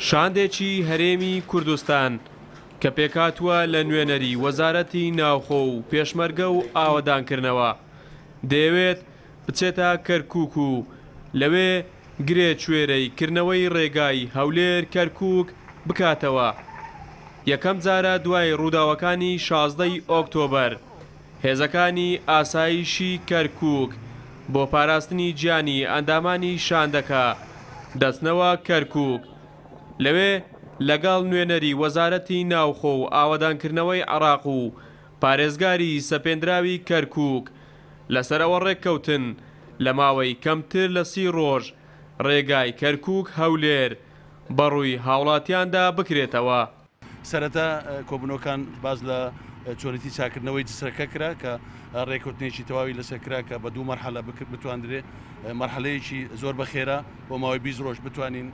شاندێکی هەرێمی کوردستان کە پێکهاتووە لە نوێنەری وەزارەتی ناوخۆ و پێشمەرگە و ئاوەدانکردنەوە، دەیەوێت بچێتە کەرکووک و لەوێ گرێ کوێرەی کردنەوەی ڕێگای هەولێر کەرکووک بکاتەوە. یەکەم جارە دوای ڕووداوەکانی 16 ی ئۆکتۆبەر هێزەکانی ئاسایشی کەرکووک بۆ پاراستنی گیانی ئەندامانی شاندەکە دەچنەوە کەرکووک لەوێ لەگەڵ نوێنەری وەزارەتی ناوخۆ و ئاوەدانکردنەوەی عێراق و پارێزگاری سەپێندراوی کەرکووک لەسەر ئەوە ڕێککەوتن لە ماوەی کەمتر لە سی ڕۆژ ڕێگای کەرکووک هەولێر بەڕووی هاوڵاتیاندا بکرێتەوە. سەرەتا کۆبوونەوەکان باس لە چۆنێتی چاکردنەوەی جسرەکە کرا کە ڕێککەوتنێکی تەواوی لەسەر کرا کە بە دوو مەرحەلە بتواندرێ مەرحەلەیەکی زۆر بەخێرا بۆ ماوەی 20 ڕۆژ بتوانین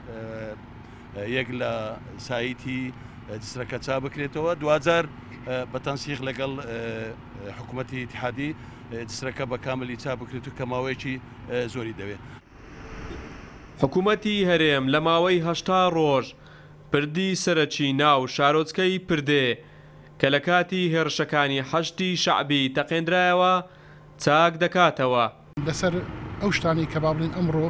یەک لە سایتی جسرەکە چا بکرێتەوە دواجار بە تەنسیق لەگەڵ حکوومەتی ئیتحادی جسرەکە بە کاملی چا بکرێت و کە ماوەیەکی زۆری دەوێت. حکوومەتی هەرێم لە ماوەی 80 ڕۆژ پردی سەرەکی ناو شارۆچکەی پردێ کە لە کاتی هێڕشەکانی حەشدی شەعبی تەقێندرایەوە، چاک دەکاتەوە. لەسەر ئەو شتانەی کە با بڵێین ئەمڕۆ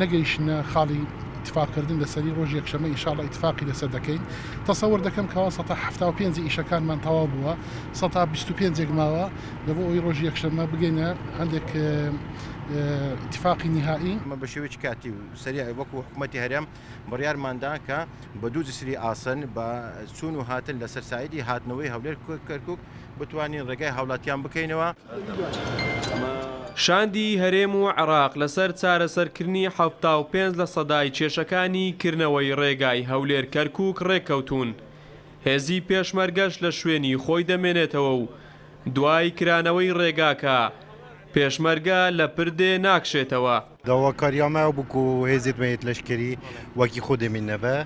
نەگەیشتنە خاڵی ئیتفاق کردن لەسەری، ڕۆژی یەکشەممە ان شاء اللە ئیتفاقی لەسەر دەکەین. تەسەور دەکەم کەوا سەتا 75 ی ئیشەکانمان تەواو بووە، سەتا 25 ێک ماوە لە بۆ ئەوەی ڕۆژی یەکشەممە بگەینە هەندێک ئیتفاقی نیهائی. ئێمە بە شێوەیەکی کاتی و سەریع وەکو حکومەتی هەرێم بڕیارماندا کە بە دوو جسری ئاسن بە چوون و هاتن لەسەر سایدی هاتنەوەی هەولێر کەرکوک بتوانین ڕێگای هاوڵاتیان بکەینەوە. شاندی هەرێم و عێراق لەسەر چارەسەرکردنی 75 لە سەدای کێشەکانی کردنەوەی ڕێگای هەولێر کەرکوک ڕێککەوتوون، هێزی پێشمەرگەش لە شوێنی خۆی دەمێنێتەوە و دوای کرانەوەی ڕێگاکە پێشمەرگە لە پردێ ناکشێتەوە. داواکارییا me ew bû ku hêzên me yê leşkerî wekî xwe demîneve,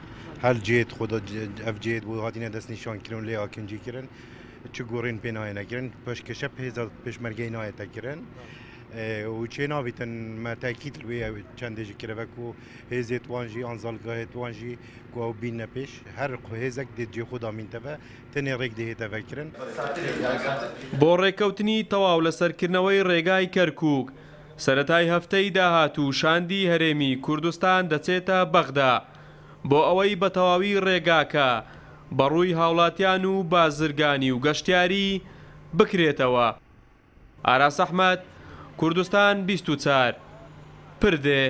her cihê xwe de ev cihê bû hatine destnîşankirin û lê akincî kirin, çi gorîn pê nayêne kirin, peşkeşe bi hêza pêşmergeyê nayête kirin û çê nabîtin me tekîd li wê çendê jî kiribe ku hêzê wan jî an zalgahê wan jî ku ew bînine pêş, her hêzek dê cihê xwe de mînteve, tenê rêk dê hête vekirin. بۆ ڕێککەوتنی تەواو لەسەر کردنەوەی ڕێگای کەرکووک، سەرەتای هەفتەی داهاتوو شاندی هەرێمی کوردستان دەچێتە بەغدا بۆ ئەوەی بە تەواوی ڕێگاکە بەڕووی هاوڵاتیان و بازرگانی و گەشتیاری بکرێتەوە. ئاراس ئەحمەد، کوردستان 24، پردێ.